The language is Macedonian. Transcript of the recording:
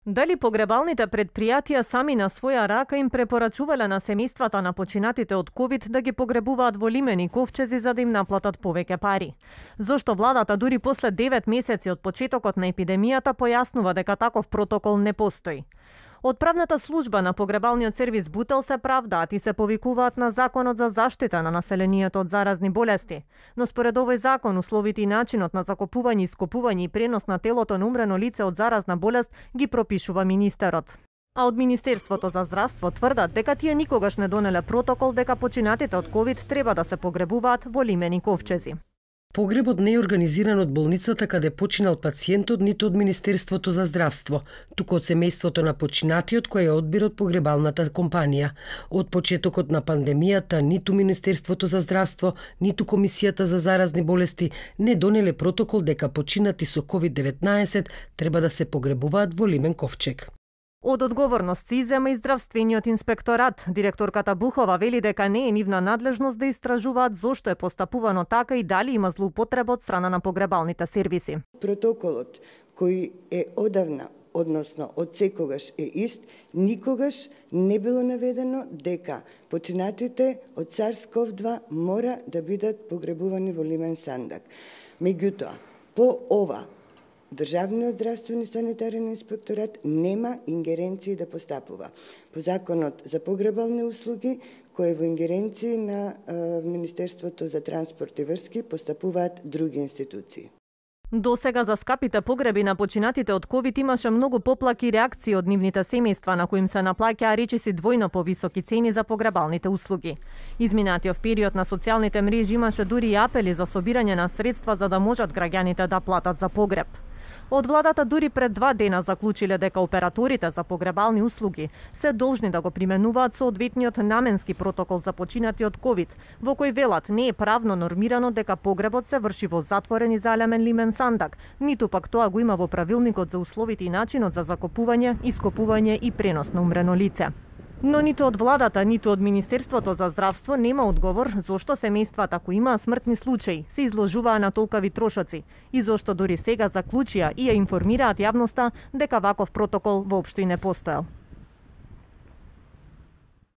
Дали погребалните предпријатија сами на своја рака им препорачувале на семејствата на починатите од ковид да ги погребуваат во лимени ковчези за да им наплатат повеќе пари? Зошто владата дури после 9 месеци од почетокот на епидемијата појаснува дека таков протокол не постои? Од правната служба на погребалниот сервис Бутел се правдаат и се повикуваат на Законот за заштита на населението од заразни болести. Но според овој закон, условите и начинот на закопување, ископување и пренос на телото на умрено лице од заразна болест ги пропишува министерот. А од Министерството за здравство тврдат дека тие никогаш не донеле протокол дека починатите од ковид треба да се погребуваат во лимени ковчези. Погребот не е организиран од болницата каде починал пациентот, ниту од Министерството за здравство, туку од семејството на починатиот кој е одбир од погребалната компанија. Од почетокот на пандемијата ниту Министерството за здравство, ниту Комисијата за заразни болести не донеле протокол дека починати со COVID-19 треба да се погребуваат во лимен ковчег. Од одговорност се изема и здравствениот инспекторат. Директорката Бухова вели дека не е нивна надлежност да истражуваат зошто е постапувано така и дали има злоупотреба од страна на погребалните сервиси. Протоколот кој е одавна, односно од секогаш е ист, никогаш не било наведено дека починатите од SARS-CoV-2 мора да бидат погребувани во лимен сандак. Меѓутоа, по ова Државниот здравствени санитарен инспекторат нема ингеренции да постапува. По Законот за погребални услуги, кој е во ингеренции на Министерството за транспорт и врски, постапуваат други институции. До сега за скапите погреби на починатите од ковид имаше многу поплаки реакции од нивните семејства на кои им се наплаќаа речиси двојно повисоки цени за погребалните услуги. Изминатиот период на социјалните мрежи имаше дури и апели за собирање на средства за да можат граѓаните да платат за погреб. Од владата дури пред 2 дена заклучиле дека операторите за погребални услуги се должни да го применуваат соодветниот наменски протокол за починати од ковид, во кој велат не е правно нормирано дека погребот се врши во затворен и залемен лимен сандак, ниту пак тоа го има во правилникот за условите и начинот за закопување, ископување и пренос на умрено лице. Но ниту од владата, ниту од Министерството за здравство нема одговор зошто семејствата кои имаа смртни случаи се изложуваа на толкави трошоци и зошто дури сега заклучија и ја информираат јавноста дека ваков протокол воопшто и не постоел.